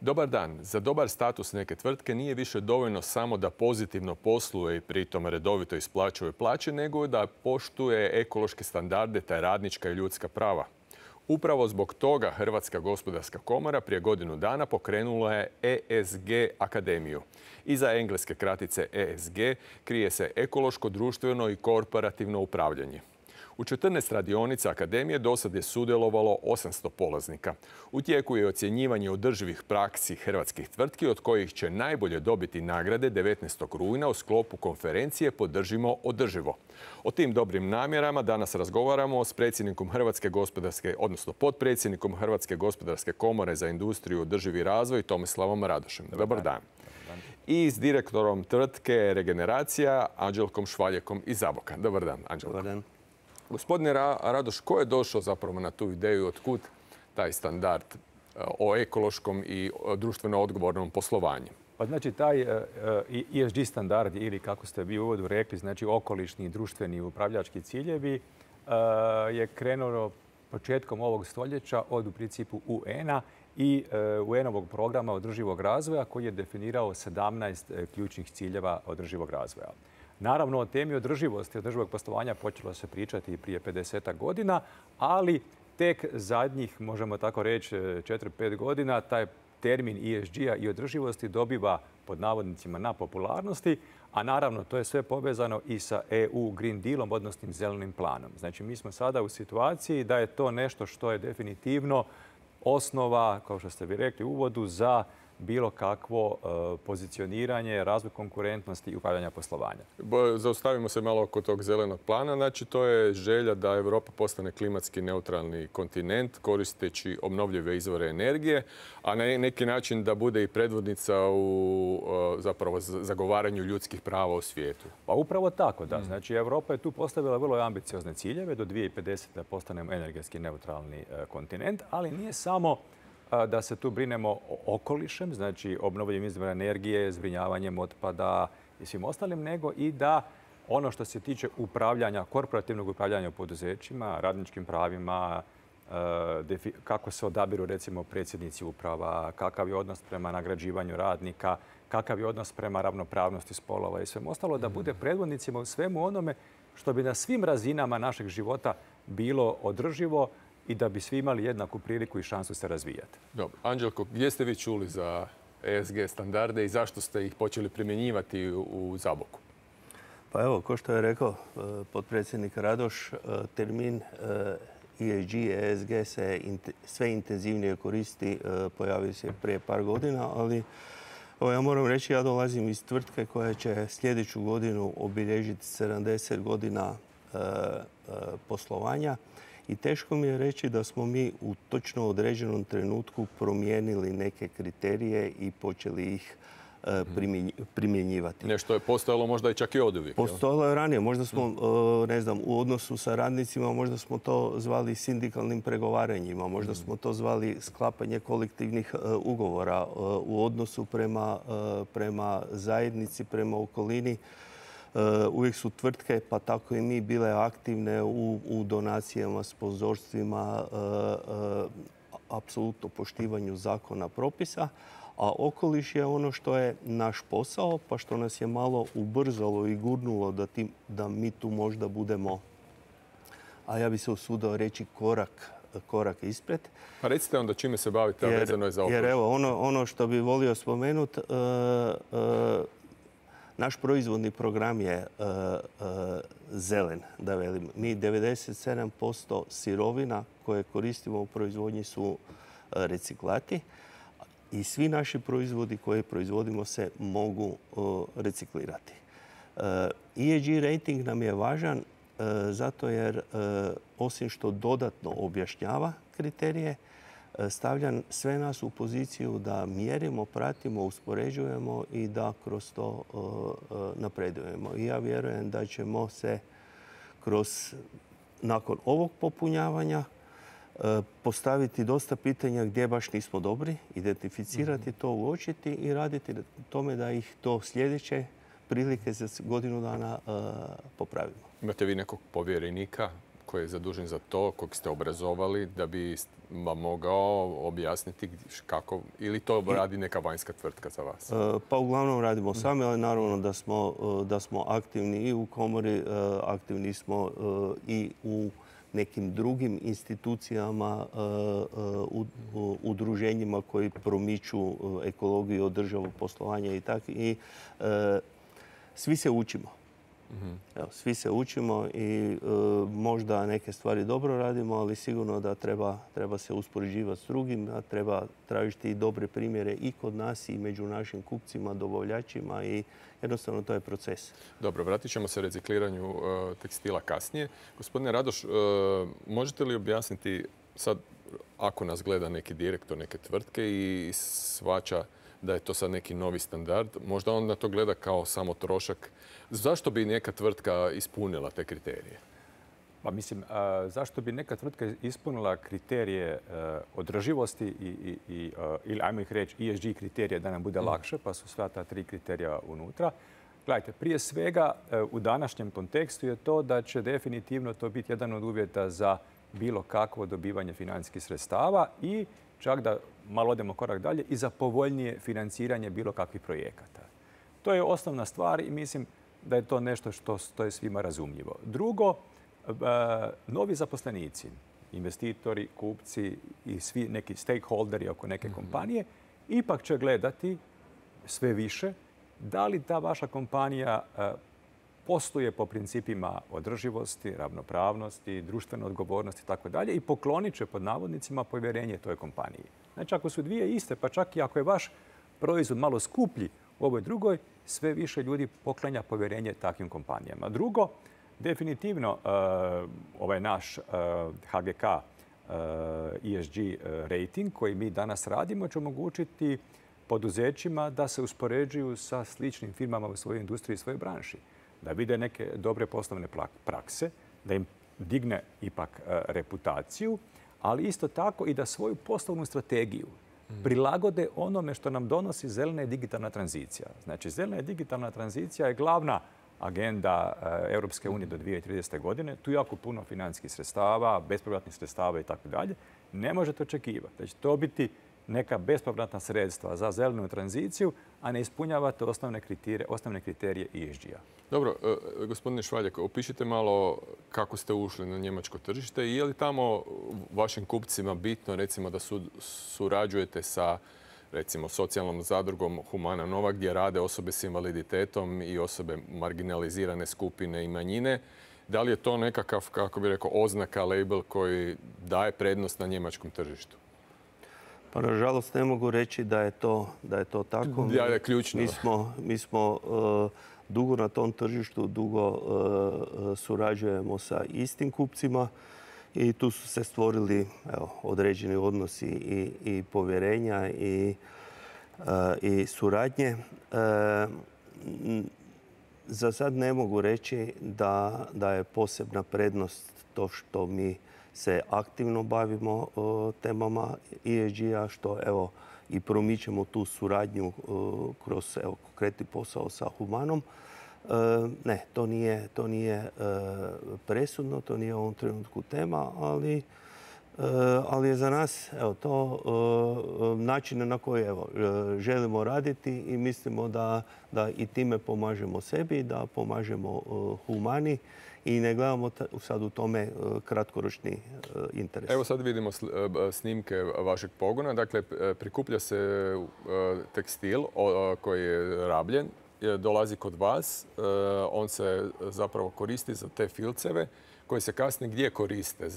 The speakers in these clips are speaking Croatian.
Dobar dan. Za dobar status neke tvrtke nije više dovoljno samo da pozitivno posluje i pritom redovito isplaćuje plaće, nego da poštuje ekološke standarde te radnička i ljudska prava. Upravo zbog toga Hrvatska gospodarska komora prije godinu dana pokrenula je ESG akademiju. Iza engleske kratice ESG krije se ekološko, društveno i korporativno upravljanje. U 14 radionica akademije dosad je sudjelovalo 800 polaznika. U tijeku je ocjenjivanje održivih praksi hrvatskih tvrtki, od kojih će najbolje dobiti nagrade 19. rujna u sklopu konferencije Podržimo održivo. O tim dobrim namjerama danas razgovaramo s predsjednikom Hrvatske gospodarske, odnosno potpredsjednikom Hrvatske gospodarske komore za industriju i održivi razvoj Tomislavom Radošem. Dobar dan. I s direktorom tvrtke Regeneracija Anđelkom Švaljekom iz Zaboka. Dobar dan, Anđelko. Dobar dan. Gospodine Radoš, ko je došao zapravo na tu ideju, otkud taj standard o ekološkom i društveno odgovornom poslovanju? Pa znači taj ESG standard ili kako ste vi u uvodu rekli, znači okolišni, društveni upravljački ciljevi je krenuo početkom ovog stoljeća od u principu UN-a i UN-ovog programa održivog razvoja koji je definirao 17 ključnih ciljeva održivog razvoja. Naravno, o temi održivosti, održivog poslovanja počelo se pričati prije 50 godina, ali tek zadnjih, možemo tako reći, 4-5 godina taj termin ESG-a i održivosti dobiva pod navodnicima na popularnosti, a naravno to je sve povezano i sa EU Green Dealom, odnosno zelenim planom. Znači mi smo sada u situaciji da je to nešto što je definitivno osnova, kao što ste vi rekli u uvodu, za bilo kakvo pozicioniranje, razvoj konkurentnosti i upravljanja poslovanja. Zaustavimo se malo oko tog zelenog plana. Znači, to je želja da Europa postane klimatski neutralni kontinent koristeći obnovljive izvore energije, a na neki način da bude i predvodnica u zapravo zagovaranju ljudskih prava u svijetu. Pa upravo tako, da. Znači, Europa je tu postavila vrlo ambiciozne ciljeve do 2050. da postanemo energetski neutralni kontinent, ali nije samo da se tu brinemo o okolišem, znači obnovljivim izvorima energije, zbrinjavanjem otpada i svim ostalim, nego i da ono što se tiče upravljanja, korporativnog upravljanja u poduzećima, radničkim pravima, kako se odabiru recimo predsjednici uprava, kakav je odnos prema nagrađivanju radnika, kakav je odnos prema ravnopravnosti spolova i svemu ostalo, da bude predvodnicima u svemu onome što bi na svim razinama našeg života bilo održivo i da bi svi imali jednaku priliku i šansu se razvijati. Dobro. Anđelko, gdje ste vi čuli za ESG standarde i zašto ste ih počeli primjenjivati u Zaboku? Pa evo, kao što je rekao potpredsjednik Radoš, termin ESG, ESG se sve intenzivnije koristi, pojavio se prije par godina, ali ja moram reći, ja dolazim iz tvrtke koja će sljedeću godinu obilježiti 70 godina poslovanja. I teško mi je reći da smo mi u točno određenom trenutku promijenili neke kriterije i počeli ih primjenjivati. Nešto je postojalo možda i čak i oduvijek. Postojalo je ranije. Možda smo, ne znam, u odnosu sa radnicima, možda smo to zvali sindikalnim pregovaranjima, možda smo to zvali sklapanje kolektivnih ugovora u odnosu prema zajednici, prema okolini. Uvijek su tvrtke, pa tako i mi, bile aktivne u donacijama, sponzorstvima, apsolutno poštivanju zakona, propisa. A okoliš je ono što je naš posao, pa što nas je malo ubrzalo i gurnulo da mi tu možda budemo, a ja bi se usudio reći, korak ispred. Pa recite onda čime se bavite, a vezano je za okoliš. Jer evo, ono što bi volio spomenuti, naš proizvodni program je zelen, da velim. Mi 97% sirovina koje koristimo u proizvodnji su reciklati i svi naši proizvodi koje proizvodimo se mogu reciklirati. ESG rating nam je važan zato jer osim što dodatno objašnjava kriterije, stavlja sve nas u poziciju da mjerimo, pratimo, uspoređujemo i da kroz to napredujemo. I ja vjerujem da ćemo se nakon ovog popunjavanja postaviti dosta pitanja gdje baš nismo dobri, identificirati to, uočiti i raditi na tome da ih do sljedeće prilike za godinu dana popravimo. Imate vi nekog povjerenika koji je zadužen za to, kojeg ste obrazovali, da bi vam mogao objasniti kako, ili to radi neka vanjska tvrtka za vas? Pa uglavnom radimo sami, ali naravno da smo aktivni i u komori, aktivni smo i u nekim drugim institucijama, udruženjima koji promiču ekologiju, održivog poslovanja i tako. I svi se učimo. Evo, svi se učimo i možda neke stvari dobro radimo, ali sigurno da treba se uspoređivati s drugim, da treba tražiti i dobre primjere i kod nas i među našim kupcima, dobavljačima i jednostavno to je proces. Dobro, vratit ćemo se recikliranju tekstila kasnije. Gospodine Radoš, možete li objasniti sad, ako nas gleda neki direktor neke tvrtke i shvaća da je to sad neki novi standard, možda on na to gleda kao samo trošak. Zašto bi neka tvrtka ispunila te kriterije? Pa mislim, zašto bi neka tvrtka ispunila kriterije održivosti ili ajmo ih reći ESG kriterije da nam bude lakše, pa su sva ta 3 kriterija unutra. Gledajte, prije svega u današnjem kontekstu je to da će definitivno to biti jedan od uvjeta za bilo kakvo dobivanje financijskih sredstava i čak da malo odemo korak dalje i za povoljnije financiranje bilo kakvih projekata. To je osnovna stvar i mislim da je to nešto što je svima razumljivo. Drugo, novi zaposlenici, investitori, kupci i svi neki stakeholderi oko neke kompanije ipak će gledati sve više da li ta vaša kompanija posluje po principima održivosti, ravnopravnosti, društvene odgovornosti itd. i poklonit će pod navodnicima povjerenje toj kompaniji. Znači, ako su dvije iste, pa čak i ako je vaš proizvod malo skuplji u ovoj drugoj, sve više ljudi poklanja povjerenje takvim kompanijama. Drugo, definitivno ovaj naš HGK ESG rating koji mi danas radimo će omogućiti poduzećima da se uspoređuju sa sličnim firmama u svojoj industriji i svojoj branši. Da vide neke dobre poslovne prakse, da im digne ipak reputaciju, ali isto tako i da svoju poslovnu strategiju prilagode onome što nam donosi zelena i digitalna tranzicija. Znači, zelena i digitalna tranzicija je glavna agenda Europske unije do 2030. godine. Tu je jako puno financijskih sredstava, bespovratnih sredstava i tako dalje. Ne možete očekivati da će to biti neka bespovratna sredstva za zelenu tranziciju, a ne ispunjavate osnovne kriterije ESG-a. Dobro, gospodine Švaljak, opišite malo kako ste ušli na njemačko tržište i je li tamo vašim kupcima bitno recimo da surađujete sa recimo socijalnom zadrugom Humana Nova gdje rade osobe s invaliditetom i osobe marginalizirane skupine i manjine. Da li je to nekakav, kako bih rekao, oznaka, label koji daje prednost na njemačkom tržištu? Pa nažalost ne mogu reći da je to tako. Da je ključno. Mi smo dugo na tom tržištu, dugo surađujemo sa istim kupcima i tu su se stvorili određeni odnosi i povjerenja i suradnje. Za sad ne mogu reći da je posebna prednost to što mi se aktivno bavimo temama ESG-a, što i promičemo tu suradnju kroz konkretni posao sa Humanom. Ne, to nije presudno, to nije u ovom trenutku tema, ali je za nas to način na koji želimo raditi i mislimo da i time pomažemo sebi, da pomažemo Humani i ne gledamo sad u tome kratkoročni interes. Evo sad vidimo snimke vašeg pogona. Dakle, prikuplja se tekstil koji je rabljen, dolazi kod vas. On se zapravo koristi za te filceve koji se kasnije gdje koriste?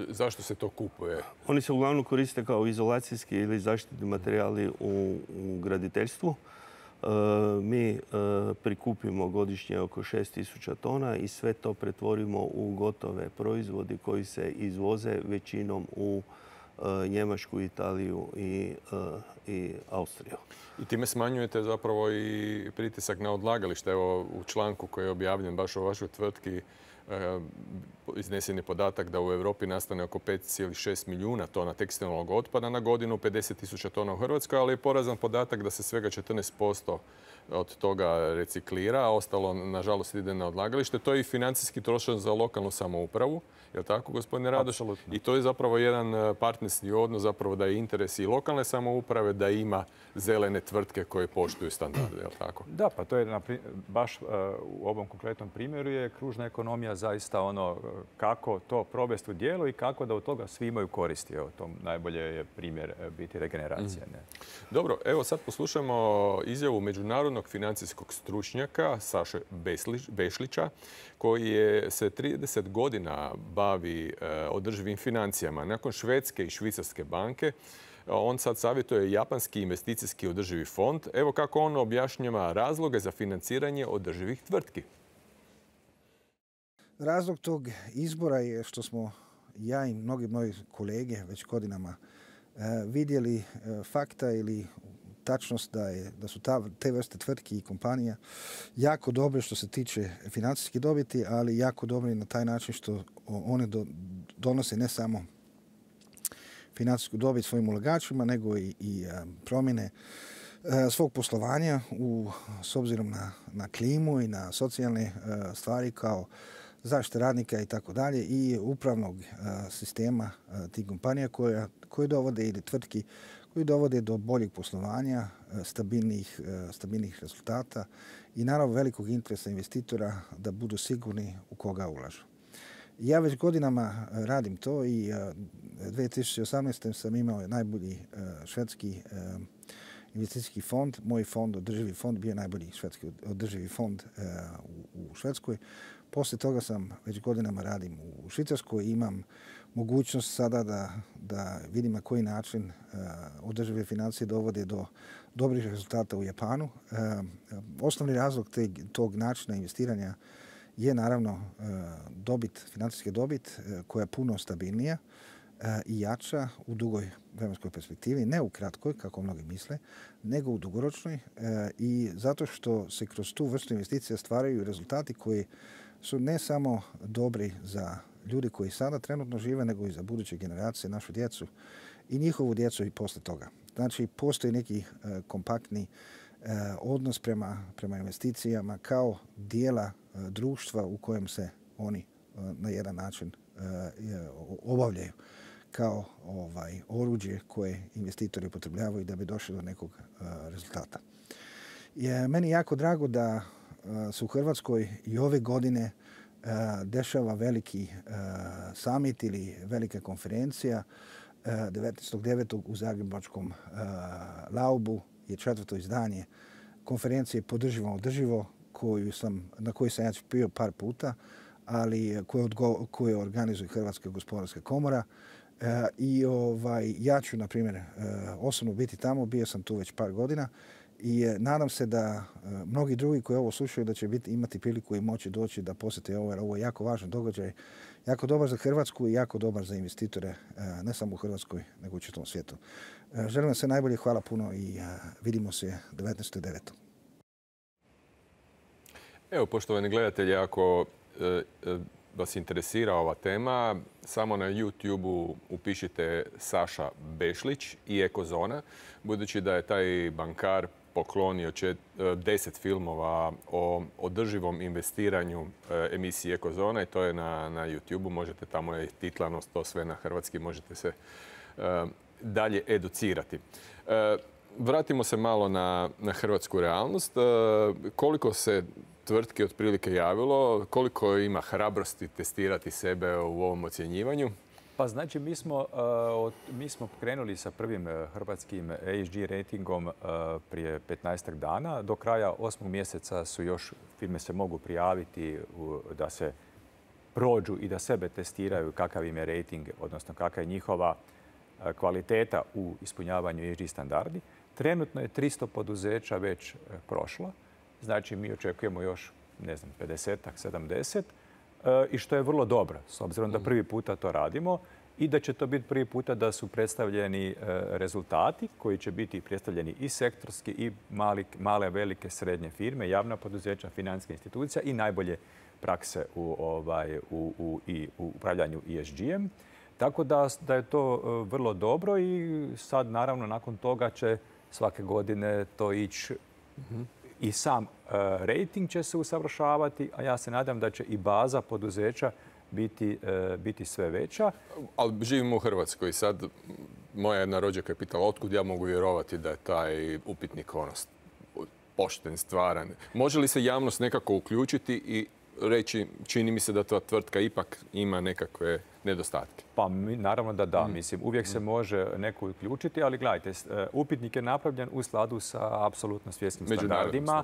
Zašto se to kupuje? Oni se uglavnom koriste kao izolacijski ili zaštitni materijali u graditeljstvu. Mi prikupimo godišnje oko 6.000 tona i sve to pretvorimo u gotove proizvodi koji se izvoze većinom u Njemačku, Italiju i Austriju. I time smanjujete zapravo i pritisak na odlagalište. Evo u članku koji je objavljen baš o vašoj tvrtki iznesen je podatak da u Europi nastane oko 5,6 milijuna tona tekstilnog otpada na godinu, 50.000 tona u Hrvatskoj, ali je porazan podatak da se svega 14% od toga reciklira, a ostalo, nažalost, ide na odlagalište. To je i financijski trošak za lokalnu samoupravu. Je li tako, gospodine Radoš? Apsolutno. I to je zapravo jedan partnerski odnos, zapravo da je interes i lokalne samouprave, da ima zelene tvrtke koje poštuju standarde, je li tako? Da, pa to je baš u ovom konkretnom primjeru je kružna ekonomija zaista ono kako to provesti u djelo i kako da od toga svi imaju koristi. Evo, to najbolje je primjer biti regeneracija. Ne? Dobro, evo sad poslušajmo izjavu međunarodnog financijskog stručnjaka Saše Bešlića, koji se 30 godina bavi održivim financijama. Nakon Švedske i Švicarske banke, on sad savjetuje Japanski investicijski održivi fond. Evo kako on objašnjava razloge za financiranje održivih tvrtki. Razlog tog izbora je što smo ja i mnogi moji kolege već godinama vidjeli fakta ili tačnost da su te vrste tvrtki i kompanija jako dobre što se tiče financijske dobiti, ali jako dobre na taj način što one donose ne samo financijsku dobit svojim ulagačima, nego i promjene svog poslovanja s obzirom na klimu i na socijalne stvari kao zaštite radnika i tako dalje i upravnog sistema tih kompanija koje dovode ili tvrtki koji dovode do boljeg poslovanja, stabilnih rezultata i naravno velikog interesa investitora da budu sigurni u koga ulažu. Ja već godinama radim to i 2018. sam imao najbolji švedski investicijski fond. Moj fond, održivi fond, bio najbolji švedski održivi fond u Švedskoj. Poslije toga sam već godinama radim u Švicarskoj i imam mogućnost sada da vidim na koji način održive financije dovode do dobrih rezultata u Japanu. Osnovni razlog tog načina investiranja je naravno financijska dobit koja je puno stabilnija i jača u dugoj vremenskoj perspektivi, ne u kratkoj, kako mnogi misle, nego u dugoročnoj i zato što se kroz tu vrstu investicija stvaraju rezultati koji su ne samo dobri za ljudi koji sada trenutno žive, nego i za buduće generacije, našu djecu i njihovu djecu i posle toga. Znači, postoji neki kompaktni odnos prema investicijama kao dijela društva u kojem se oni na jedan način obavljaju kao oruđe koje investitori upotrebljavaju da bi došli do nekog rezultata. Meni je jako drago da se u Hrvatskoj i ove godine dešava veliki summit ili velika konferencija 19.9. u Zagrebačkom Laubu je 4. izdanje konferencije Podržimo održivo na kojoj sam ja bio par puta, ali koje organizuje Hrvatska gospodarska komora. I ja ću, na primjer, osobno biti tamo, bio sam tu već par godina i nadam se da mnogi drugi koji ovo slušaju da će imati priliku i moći doći da posjete ovo, jer ovo je jako važan događaj, jako dobar za Hrvatsku i jako dobar za investitore, ne samo u Hrvatskoj, nego u čitavom svijetu. Želim vam sve najbolje, hvala puno i vidimo se 19.9. Evo, poštovani gledatelji, ako vas interesira ova tema, samo na YouTube-u upišite Saša Bešlić i Ekozona, budući da je taj bankar poklonio 10 filmova o održivom investiranju emisiji Ekozona i to je na YouTube-u. Možete, tamo je titlanost, to sve na hrvatski, možete se dalje educirati. Vratimo se malo na hrvatsku realnost. Koliko se tvrtki otprilike javilo, koliko ima hrabrosti testirati sebe u ovom ocjenjivanju? Pa znači, mi smo krenuli sa prvim hrvatskim ESG ratingom prije 15 dana. Do kraja 8. mjeseca su još firme se mogu prijaviti da se prođu i da sebe testiraju kakav im je rating, odnosno kakva je njihova kvaliteta u ispunjavanju ESG standardi. Trenutno je 300 poduzeća već prošlo. Znači, mi očekujemo još, 50-ak, 70 i što je vrlo dobro, s obzirom da prvi puta to radimo i da će to biti prvi puta da su predstavljeni rezultati koji će biti predstavljeni i sektorski i male, velike, srednje firme, javna poduzeća, financijske institucije i najbolje prakse u upravljanju ESG-em. Tako da je to vrlo dobro i sad naravno nakon toga će svake godine to ići i sam rating će se usavršavati, a ja se nadam da će i baza poduzeća biti sve veća. Ali živimo u Hrvatskoj i sad moja jedna rođaka je pitala otkud ja mogu vjerovati da je taj upitnik pošten, stvaran. Može li se javnost nekako uključiti i reći čini mi se da ta tvrtka ipak ima nekakve nedostatke? Pa naravno da da. Mislim, uvijek se može neko uključiti, ali gledajte, upitnik je napravljen u skladu sa apsolutno svjetskim standardima.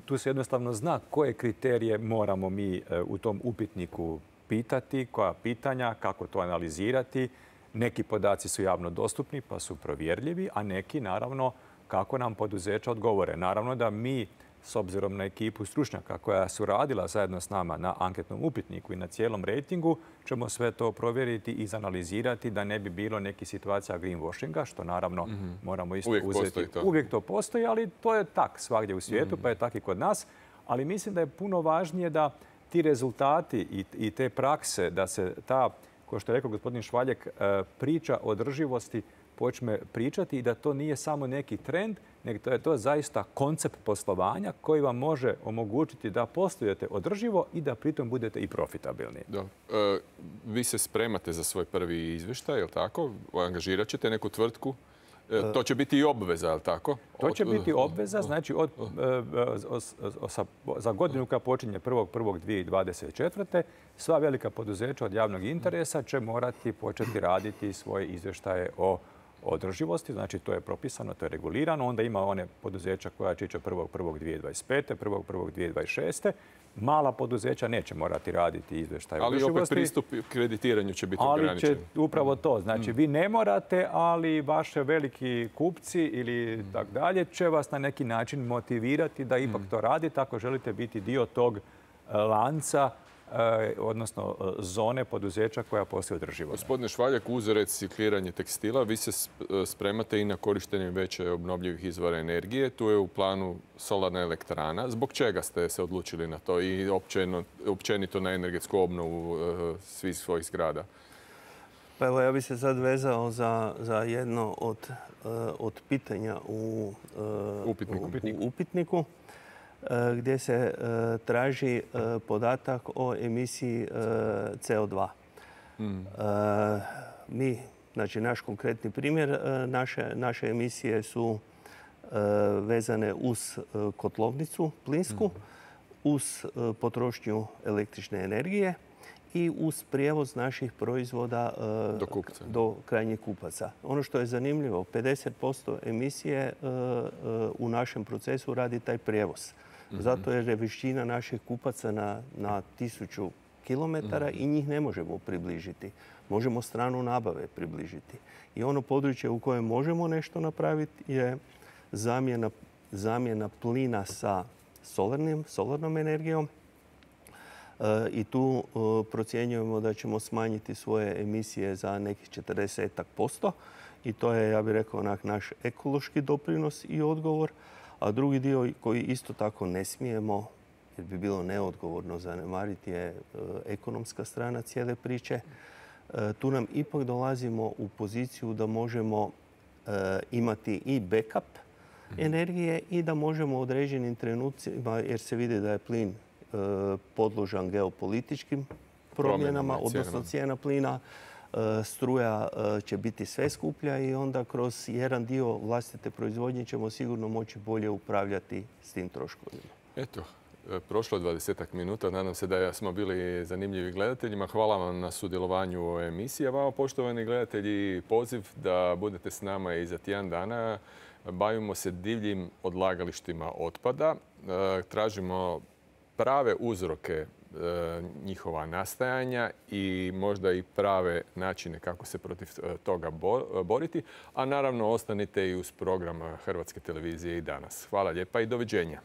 Tu se jednostavno zna koje kriterije moramo mi u tom upitniku pitati, koja pitanja, kako to analizirati. Neki podaci su javno dostupni pa su provjerljivi, a neki naravno kako nam poduzeća odgovore. Naravno da mi, s obzirom na ekipu stručnjaka koja su radila zajedno s nama na anketnom upitniku i na cijelom rejtingu, ćemo sve to provjeriti i izanalizirati da ne bi bilo nekih situacija greenwashinga, što naravno moramo isto uzeti. Uvijek to postoji, ali to je tak svagdje u svijetu, pa je tak i kod nas. Ali mislim da je puno važnije da ti rezultati i te prakse, da se ta, kao što je rekao gospodin Švaljek, priča o održivosti počne pričati i da to nije samo neki trend, nego je to zaista koncept poslovanja koji vam može omogućiti da poslujete održivo i da pritom budete i profitabilni. Da. Vi se spremate za svoj prvi izvještaj, je li tako? Angažirat ćete neku tvrtku? To će biti i obveza, je li tako? To će biti obveza, znači za godinu koja počinje 1.1.2024. sva velika poduzeća od javnog interesa će morati početi raditi svoje izvještaje o održivosti, znači to je propisano, to je regulirano. Onda ima one poduzeća koja će ići 1.1.2025. 1.1.2026. Mala poduzeća neće morati raditi izvještaj o održivosti. Ali opet pristup kreditiranju će biti ograničen. Ali će upravo to. Znači vi ne morate, ali vaše veliki kupci ili tak dalje će vas na neki način motivirati da ipak to radite ako želite biti dio tog lanca, odnosno zone poduzeća koja postoji održivo. Gospodine Švaljak, uz recikliranje tekstila, vi se spremate i na korištenje veće obnovljivih izvora energije. Tu je u planu solarna elektrana. Zbog čega ste se odlučili na to i općenito na energetsku obnovu svih svojih zgrada? Pa evo, ja bih se sad vezao za jedno od pitanja u upitniku, gdje se traži podatak o emisiji CO2. Mi, znači naš konkretni primjer, naše emisije su vezane uz kotlovnicu plinsku, uz potrošnju električne energije i uz prijevoz naših proizvoda do krajnjih kupaca. Ono što je zanimljivo, 50% emisije u našem procesu radi taj prijevoz. Zato je većina naših kupaca na 1000 kilometara i njih ne možemo približiti. Možemo stranu nabave približiti. I ono područje u kojem možemo nešto napraviti je zamjena plina sa solarnom energijom. I tu procjenjujemo da ćemo smanjiti svoje emisije za nekih 40%. I to je, ja bih rekao, naš ekološki doprinos i odgovor. A drugi dio koji isto tako ne smijemo, jer bi bilo neodgovorno zanemariti, je ekonomska strana cijele priče. Tu nam ipak dolazimo u poziciju da možemo imati i backup energije i da možemo u određenim trenucima, jer se vidi da je plin podložan geopolitičkim promjenama, odnosno cijena plina, struja će biti sve skuplja i onda kroz jedan dio vlastite proizvodnje ćemo sigurno moći bolje upravljati s tim troškovima. Eto, prošlo 20 minuta. Nadam se da smo bili zanimljivi gledateljima. Hvala vam na sudjelovanju u ovoj emisiji. A vama, poštovani gledatelji, poziv da budete s nama i za tjedan dana. Bavimo se divljim odlagalištima otpada. Tražimo prave uzroke njihova nastajanja i možda i prave načine kako se protiv toga boriti. A naravno, ostanite i uz program Hrvatske televizije i danas. Hvala lijepa i doviđenja.